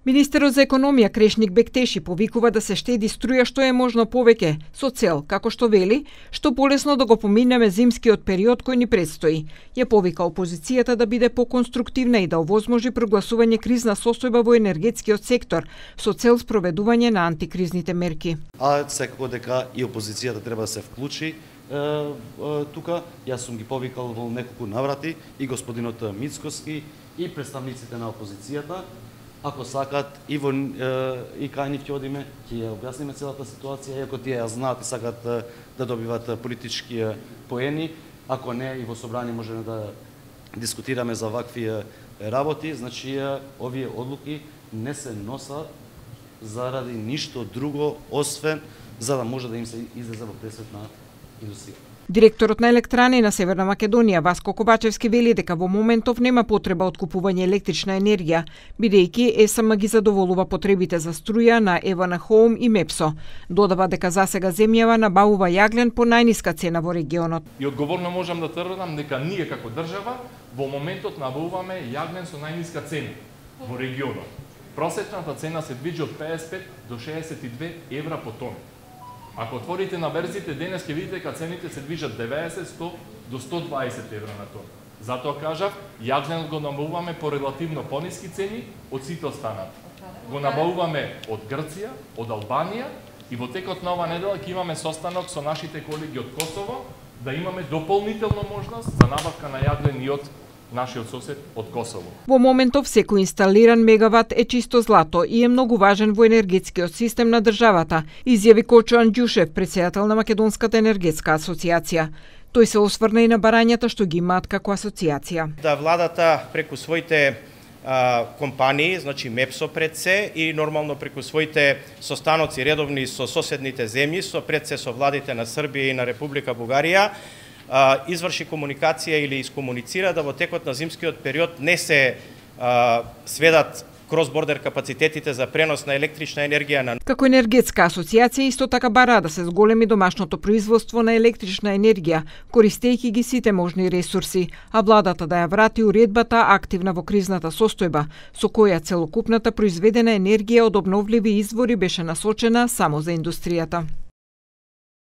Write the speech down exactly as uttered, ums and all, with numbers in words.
Министерот за економија Крешник Бектеши повикува да се штеди струја што е можно повеќе, со цел, како што вели, што полесно да го поминеме зимскиот период кој ни предстои. Ја повика опозицијата да биде поконструктивна и да овозможи прогласување кризна состојба во енергетскиот сектор со цел спроведување на антикризните мерки. А секако дека и опозицијата треба да се вклучи е, е, тука. Јас сум ги повикал во неколку наврати и господинот Мицкоски и представниците на опозицијата. Ако сакат и во и кај нив ќе одиме, ќе ја објасниме целата ситуација, иако тие ја знаат и сакат да добиват политички поени, ако не и во собрание можеме да дискутираме за вакви работи, значи овие одлуки не се носат заради ништо друго освен за да може да им се излезе во пресвет на индустријата. Директорот на Електрани на Северна Македонија Васко Кобачевски вели дека во моментов нема потреба од купување електрична енергија, бидејќи ЕСМ ги задоволува потребите за струја на Евана Хоум и Мепсо. Додава дека засега земјава набавува јаглен по најниска цена во регионот. И одговорно можам да тврдам дека ние како држава во моментот набавуваме јаглен со најниска цена во регионот. Просечната цена се движи од педесет и пет до шеесет и две евра по тон. Ако отворите на берзите денес ќе видите дека цените се движат деветдесет, сто до сто дваесет евра на тон. Затоа кажав, јаглен го набавуваме по релативно пониски цени од сите останати. Го набавуваме од Грција, од Албанија и во текот на ова недела ќе имаме состанок со нашите колеги од Косово да имаме дополнително можност за набавка на јаглен и од нашиот сосед од Косово. Во моментов секој инсталиран мегават е чисто злато и е многу важен во енергетскиот систем на државата, изјави Кочо Анѓушев, председател на Македонската енергетска асоциација. Тој се осврна и на барањата што ги имаат како асоциација. Да владата преку своите а, компании, значи Мепсо пред се и нормално преку своите состаноци редовни со соседните земји, со пред се со владите на Србија и на Република Бугарија, изврши комуникација или искомуницира да во текот на зимскиот период не се а, сведат кросбордер капацитетите за пренос на електрична енергија на... Како енергетска асоциација исто така бара да се зголеми домашното производство на електрична енергија, користејќи ги сите можни ресурси, а владата да ја врати уредбата активна во кризната состојба, со која целокупната произведена енергија од обновливи извори беше насочена само за индустријата.